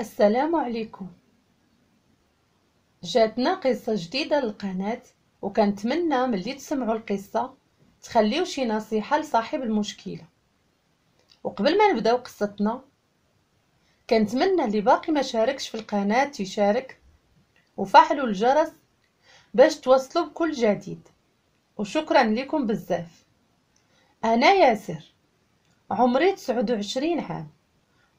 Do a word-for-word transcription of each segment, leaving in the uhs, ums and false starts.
السلام عليكم. جاتنا قصة جديدة للقناة، وكنتمنى ملي تسمعوا القصة تخليو شي نصيحة لصاحب المشكلة. وقبل ما نبداو قصتنا كنتمنى اللي باقي ما شاركش في القناة يشارك وفعلوا الجرس باش توصلوا بكل جديد، وشكرا لكم بزاف. انا ياسر، عمري تسعة وعشرين عام،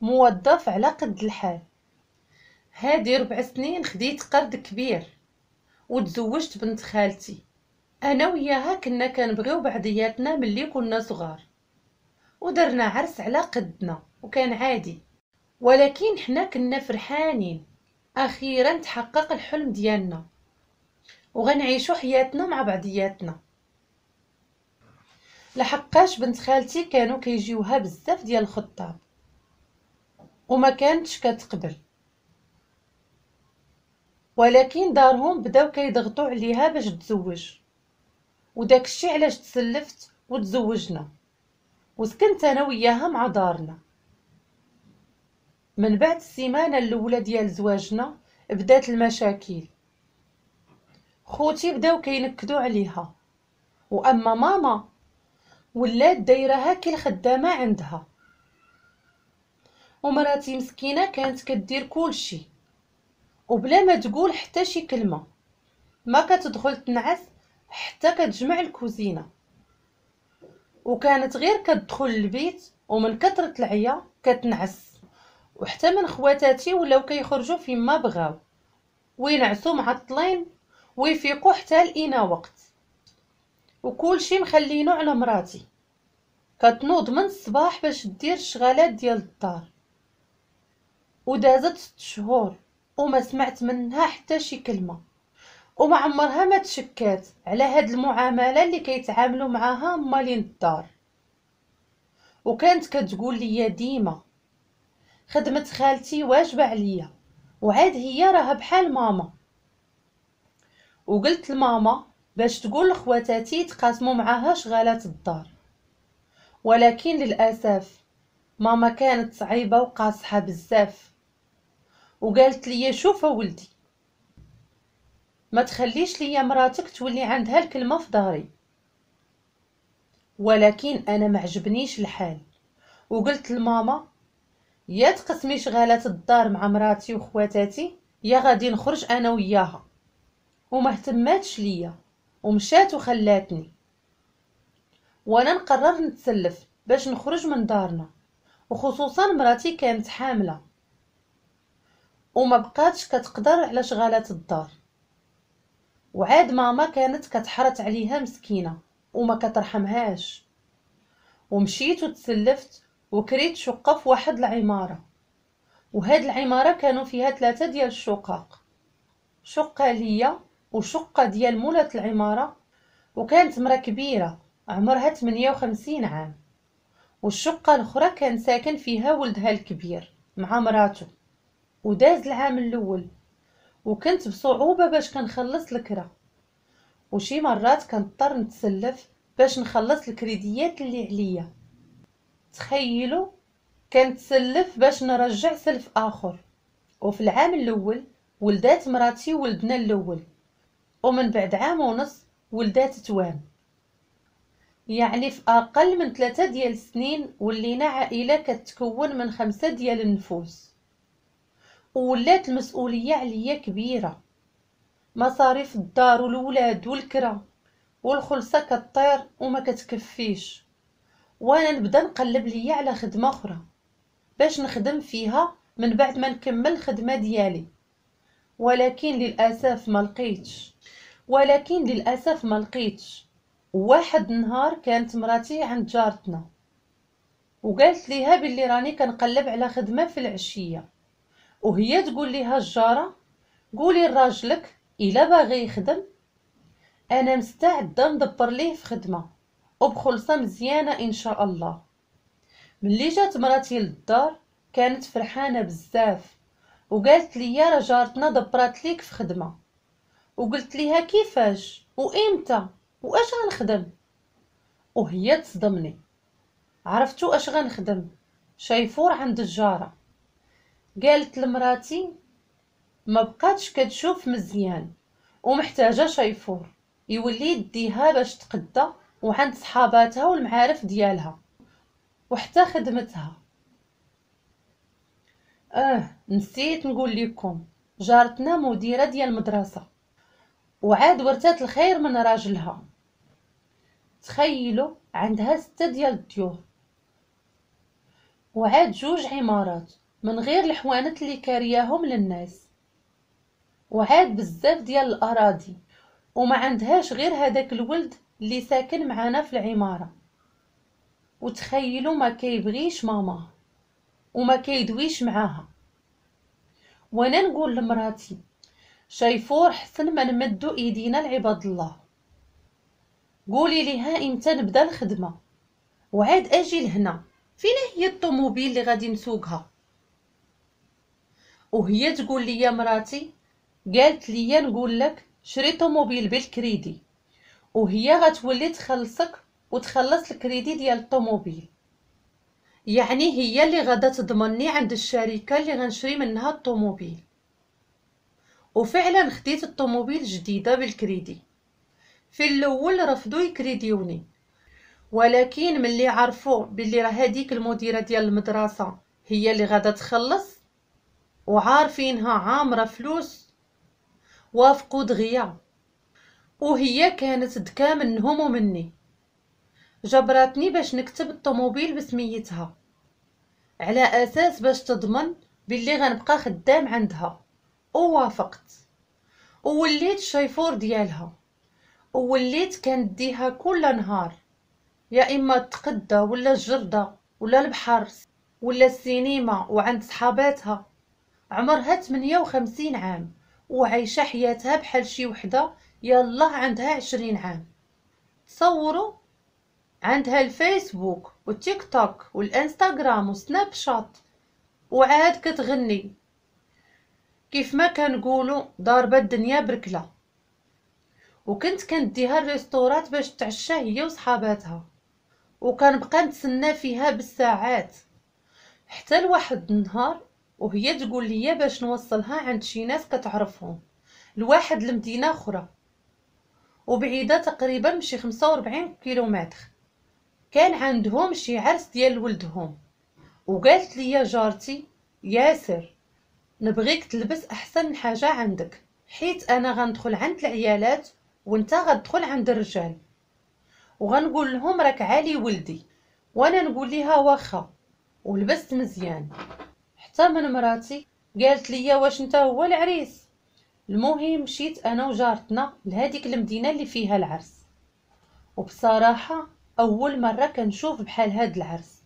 موظف على قد الحال. هادي ربع سنين خديت قرض كبير وتزوجت بنت خالتي. انا وياها كنا كنبغيو بعضياتنا ملي كنا صغار، ودرنا عرس على قدنا وكان عادي، ولكن حنا كنا فرحانين. اخيرا تحقق الحلم ديالنا وغنعيشو حياتنا مع بعضياتنا. لحقاش بنت خالتي كانوا كيجيوها بزاف ديال الخطاب وما كانتش كتقبل، ولكن دارهم بداو كيضغطوا عليها باش تزوج، وداكشي علاش تسلفت وتزوجنا وسكنت انا وياها مع دارنا. من بعد السيمانة الاولى ديال زواجنا بدات المشاكل. خوتي بداو كينكدوا عليها، واما ماما ولات دايرها كي الخدامة عندها، ومراتي مسكينه كانت كدير كلشي وبلا ما تقول حتى شي كلمة، ما كتدخل تنعس حتى كتجمع الكوزينة، وكانت غير كتدخل البيت ومن كثرة العيا كتنعس. وحتى من خواتاتي ولاو كيخرجوا فيما بغاو وينعسوا معطلين ويفيقوا حتى لقينا وقت، وكلشي مخلينو على مراتي. كتنوض من الصباح باش دير الشغالات ديال الدار، ودازت ست شهور وما سمعت منها حتى شي كلمة، وما عمرها ما تشكات على هاد المعاملة اللي كيتعاملوا معاها مالين الدار. وكانت كتقول لي ديما خدمة خالتي واجبه عليا، وعاد هي راها بحال ماما. وقلت لماما باش تقول لخواتاتي يتقاسموا معاها شغالات الدار، ولكن للاسف ماما كانت صعيبة وقاصحه بزاف، وقالت لي شوف ولدي ما تخليش ليا مراتك تولي عندها الكلمة في داري. ولكن انا ما عجبنيش الحال، وقلت لماما يا تقسمي شغالات الدار مع مراتي وخواتاتي يا غادي نخرج انا وياها. وما اهتماتش ليا ومشات وخلاتني، وانا نقرر نتسلف باش نخرج من دارنا، وخصوصا مراتي كانت حامله وما بقاتش كتقدر على شغالات الدار. وعاد ماما كانت كتحرت عليها مسكينه وما كترحمهاش. ومشيت وتسلفت وكريت شقه في واحد العمارة، وهاد العمارة كانوا فيها ثلاثة ديال الشقق، شقه ليا وشقه ديال مولات العمارة، وكانت مرا كبيرة عمرها ثمانية وخمسين عام، والشقه الاخرى كان ساكن فيها ولدها الكبير مع مراته. وداز العام الاول وكنت بصعوبة باش كنخلص الكرا، وشي مرات كنضطر نتسلف باش نخلص الكريديات اللي عليا. تخيلوا كنتسلف باش نرجع سلف اخر. وفي العام الاول ولدات مراتي ولدنا الاول، ومن بعد عام ونص ولدات توام. يعني في اقل من ثلاثة ديال السنين ولينا عائلة كتكون من خمسة ديال النفوس، وولات المسؤولية عليا كبيرة، مصاريف الدار والولاد والكرا والخلصه كطير وما كتكفيش. وانا نبدا نقلب ليا على خدمة اخرى باش نخدم فيها من بعد ما نكمل الخدمة ديالي، ولكن للاسف ما لقيتش ولكن للاسف ما لقيتش. واحد النهار كانت مراتي عند جارتنا وقالت ليها باللي راني كنقلب على خدمة في العشية، وهي تقول ليها الجاره قولي لراجلك الا باغي يخدم انا مستعدة ندبر ليه في خدمة وبخلصه مزيانه ان شاء الله. ملي جات مراتي للدار كانت فرحانة بزاف وقالت لي راه جارتنا دبرات ليك في خدمة. وقلت ليها كيفاش وامتى واش غنخدم، وهي تصدمني. عرفتو اش غنخدم؟ شيفور عند الجاره. قالت لمراتي ما بقاتش كتشوف مزيان ومحتاجة شيفور يولي يديها باش تقدى وعند صحاباتها والمعارف ديالها وحتى خدمتها. اه نسيت نقول لكم، جارتنا مديره ديال المدرسة وعاد ورثات الخير من راجلها. تخيلوا عندها ستة ديال الديور وعاد جوج عمارات من غير الحوانت اللي كارياهم للناس، وعاد بزاف ديال الاراضي، وما عندهاش غير هذاك الولد اللي ساكن معانا في العمارة. وتخيلوا ما كيبغيش ماما وما كيدويش معاها. وانا نقول لمراتي شيفور حسن ما نمدو ايدينا لعباد الله، قولي ليها امتى نبدا الخدمة وعاد اجي لهنا، فين هي الطوموبيل اللي غادي نسوقها؟ وهي تقول لي يا مراتي، قالت لي نقول لك شري طوموبيل بالكريدي وهي غتولي تخلصك وتخلص الكريدي ديال الطوموبيل، يعني هي اللي غادا تضمني عند الشركة اللي غنشري منها الطوموبيل. وفعلا خديت الطوموبيل جديدة بالكريدي. في الاول رفضوا يكريديوني، ولكن ملي عرفوا باللي راه هذيك المديرة ديال المدرسة هي اللي غادا تخلص وعارفينها عامرة فلوس، وافقوا دغيا. وهي كانت ذكا منهم ومني، جبرتني باش نكتب الطوموبيل بسميتها على اساس باش تضمن باللي غنبقى خدام عندها، ووافقت ووليت الشيفور ديالها، ووليت كنديها كل نهار، يا اما تقدى ولا الجرده ولا البحر ولا السينما وعند صحاباتها. عمرها ثمانية وخمسين عام وعايشة حياتها بحال شي وحده يلا عندها عشرين عام. تصوروا عندها الفيسبوك والتيك توك والانستغرام وسناب شات، وعاد كتغني كيف ما كنقولوا ضاربه الدنيا بركله. وكنت كنديها الريستورات باش تعشى هي وصحاباتها، وكنبقى نتسنى فيها بالساعات حتى لواحد النهار وهي تقول لي باش نوصلها عند شي ناس كتعرفهم لواحد المدينة اخرى وبعيدة تقريبا بشي خمسة وأربعين كيلومتر، كان عندهم شي عرس ديال ولدهم. وقالت لي جارتي ياسر نبغيك تلبس احسن حاجة عندك، حيت انا غندخل عند العيالات وانت غتدخل عند الرجال، وغنقول لهم راك عالي ولدي. وانا نقول لها واخا، ولبست مزيان. حتى من مراتي قالت لي واش انت هو العريس. المهم مشيت انا وجارتنا لهذيك المدينة اللي فيها العرس، وبصراحة اول مرة كنشوف بحال هاد العرس.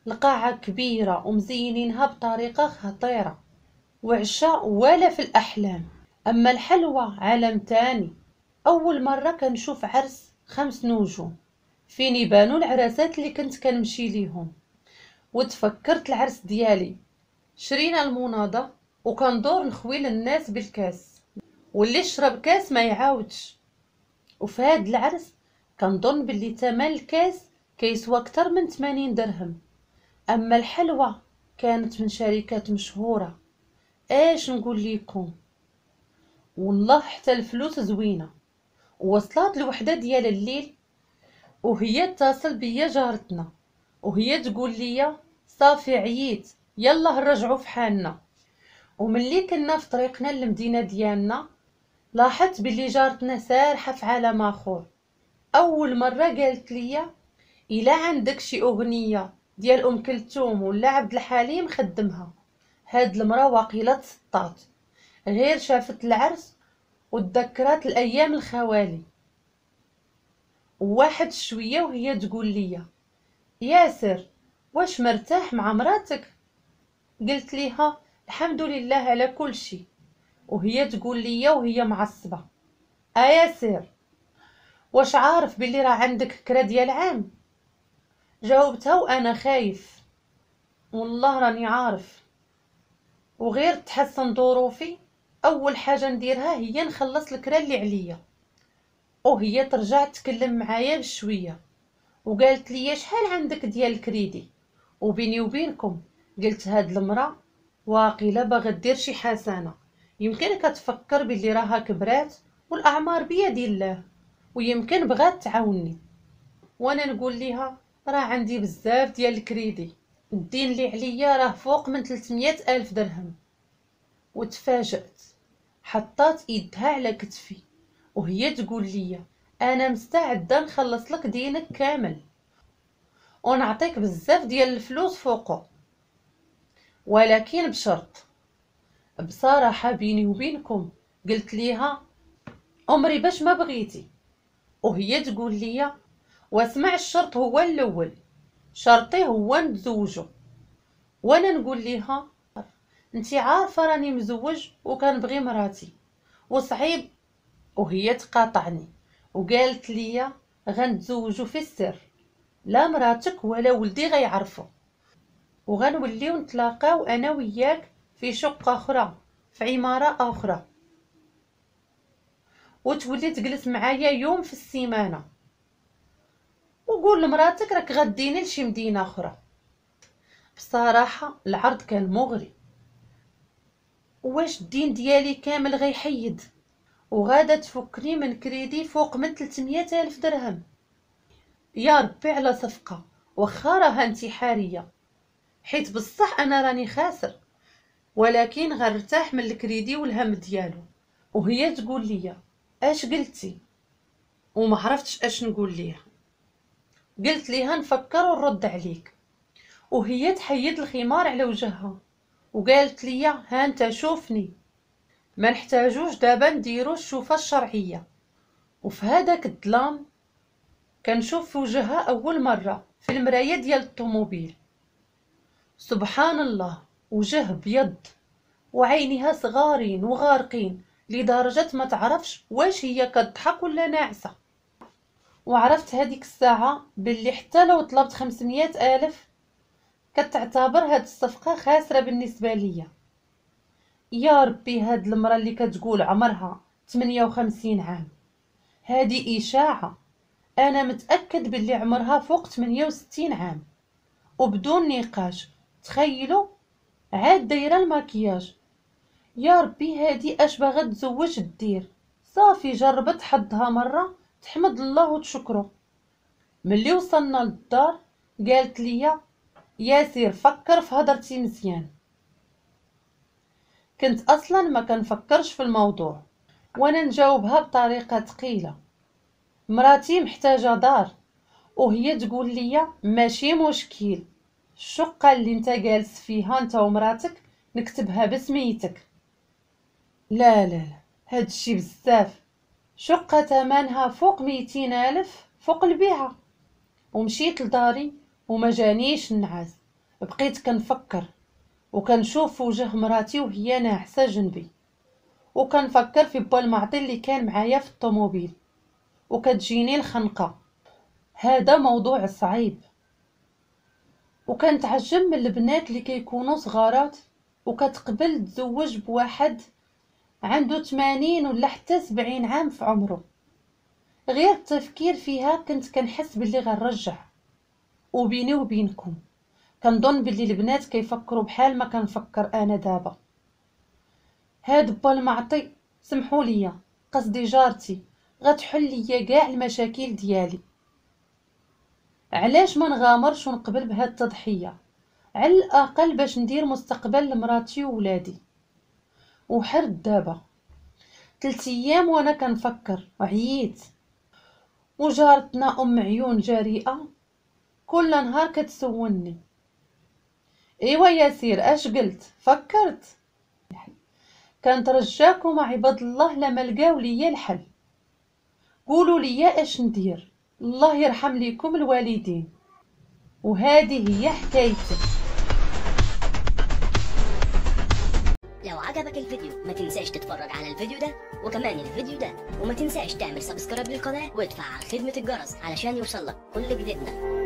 القاعة كبيرة ومزينينها بطريقة خطيرة، وعشاء ولا في الاحلام. اما الحلوى عالم تاني. اول مرة كنشوف عرس خمس نجوم فين يبانوا العراسات اللي كنت كنمشي ليهم. وتفكرت العرس ديالي، شرينا المناضه وكندور نخوي للناس بالكاس، واللي شرب كاس ما يعاودش. وفي هاد العرس كنظن باللي ثمن الكاس كيسوى اكثر من ثمانين درهم. اما الحلوى كانت من شركات مشهورة، اش نقول لكم والله حتى الفلوس زوينة. وصلت الوحدة ديال الليل وهي اتصل بيا جارتنا وهي تقول لي صافي عييت يلا نرجعوا في حالنا. وملي كنا في طريقنا للمدينة ديالنا لاحظت باللي جارتنا سارحه في عالم اخر. اول مرة قالت لي الا عندك شي اغنية ديال ام كلثوم ولا عبد الحليم خدمها. هاد المراة واقيلا تسطات غير شافت العرس وتذكرات الايام الخوالي. وواحد شوية وهي تقول لي ياسر واش مرتاح مع مراتك؟ قلت ليها الحمد لله على كل شيء. وهي تقول لي وهي معصبة اياسر واش عارف باللي راه عندك كرا ديال عام؟ جاوبتها وانا خايف والله راني عارف، وغير تحسن ظروفي اول حاجة نديرها هي نخلص الكرا اللي عليا. وهي ترجع تكلم معايا بشوية وقالت لي شحال عندك ديال الكريدي؟ وبيني وبينكم قلت هاد المراة واقيلا باغا دير شي حسنه، يمكن كتفكر باللي راها كبرات والاعمار بيد الله، ويمكن بغات تعاوني. وانا نقول ليها راه عندي بزاف ديال الكريدي، الدين اللي عليا راه فوق من ثلاثمية الف درهم. وتفاجأت، حطات ايدها على كتفي وهي تقول لي انا مستعدة نخلص لك دينك كامل ونعطيك بزاف ديال الفلوس فوقه، ولكن بشرط. بصراحة بيني وبينكم قلت ليها امري باش ما بغيتي، وهي تقول لي واسمع الشرط هو الاول، شرطي هو نتزوجو. وانا نقول ليها انت عارفه راني مزوج وكنبغي مراتي وصعيب. وهي تقاطعني وقالت لي غنتزوجو في السر، لا مراتك ولا ولدي غيعرفوا، وغنوليو نتلاقاو انا وياك في شقه اخرى في عمارة اخرى، وتولي تجلس معايا يوم في السيمانة، وقول لمراتك راك غديني لشي مدينة اخرى. بصراحة العرض كان مغري، واش الدين ديالي كامل غيحيد وغادا تفكني من كريدي فوق من ثلاثمية الف درهم؟ يا ربي على صفقة، واخا راها انتحارية، حيت بصح انا راني خاسر، ولكن غنرتاح من الكريدي والهم ديالو. وهي تقول لي اش قلتي؟ وما عرفتش اش نقول ليها. قلت ليها نفكر ونرد عليك. وهي تحيد الخمار على وجهها وقالت لي ها انت شوفني، ما نحتاجوش دابا نديرو الشوفه الشرعية. وفي هذاك الظلام كنشوف في وجهها اول مرة في المراية ديال الطوموبيل، سبحان الله، وجه بيض وعينيها صغارين وغارقين لدرجة ما تعرفش واش هي كتضحك ولا ناعسه. وعرفت هذيك الساعة باللي حتى لو طلبت خمسمية الف كتعتبر هاد الصفقة خاسرة بالنسبة ليا. يا ربي، هاد المراة اللي كتقول عمرها ثمانية وخمسين عام هادي اشاعة، انا متاكد باللي عمرها فوق ثمانية وستين عام وبدون نقاش. تخيلوا عاد دايرة الماكياج. يا ربي هادي اش باغا تزوج دير؟ صافي جربت حظها مرة، تحمد الله وتشكره. ملي وصلنا للدار قالت لي ياسر فكر في هضرتي مزيان. كنت اصلا ما كنفكرش في الموضوع، وانا نجاوبها بطريقة ثقيلة، مراتي محتاجه دار، وهي تقول لي ماشي مشكل، الشقة اللي انت جالس فيها انت ومراتك نكتبها بسميتك. لا لا لا، هادشي بزاف، شقه ثمنها فوق ميتين الف فوق البيعة. ومشيت لداري وما جانيش النعاس، بقيت كنفكر وكنشوف وجه مراتي وهي ناعسه جنبي، وكنفكر في با المعطي اللي كان معايا في الطوموبيل، وكتجيني الخنقه. هذا موضوع صعيب. وكنتعجب من البنات اللي كيكونوا صغارات وكتقبل تزوج بواحد عنده ثمانين ولا حتى سبعين عام في عمره. غير التفكير فيها كنت كنحس باللي غنرجع. وبيني وبينكم كنظن باللي البنات كيفكروا بحال ما كنفكر انا دابا. هاد با المعطي، سمحوا لي قصدي جارتي، غتحل ليا كاع المشاكل ديالي. علاش ما نغامرش ونقبل بهاد التضحية، على الاقل باش ندير مستقبل لمراتي وولادي. وحرد دابا ثلاث ايام وانا كنفكر وعييت. وجارتنا ام عيون جريئة كل نهار كتسولني ايوا ياسير اش قلت؟ فكرت؟ كنترجاكم عباد الله لما لقاو ليا الحل، قولوا لي اش ندير، الله يرحم ليكم الوالدين. وهذه هي حكايتي. لو عجبك الفيديو ما تنساش تتفرج على الفيديو ده وكمان الفيديو ده، وما تنساش تعمل subscribe للقناة وتفعل خدمة الجرس علشان يوصلك كل جديدنا.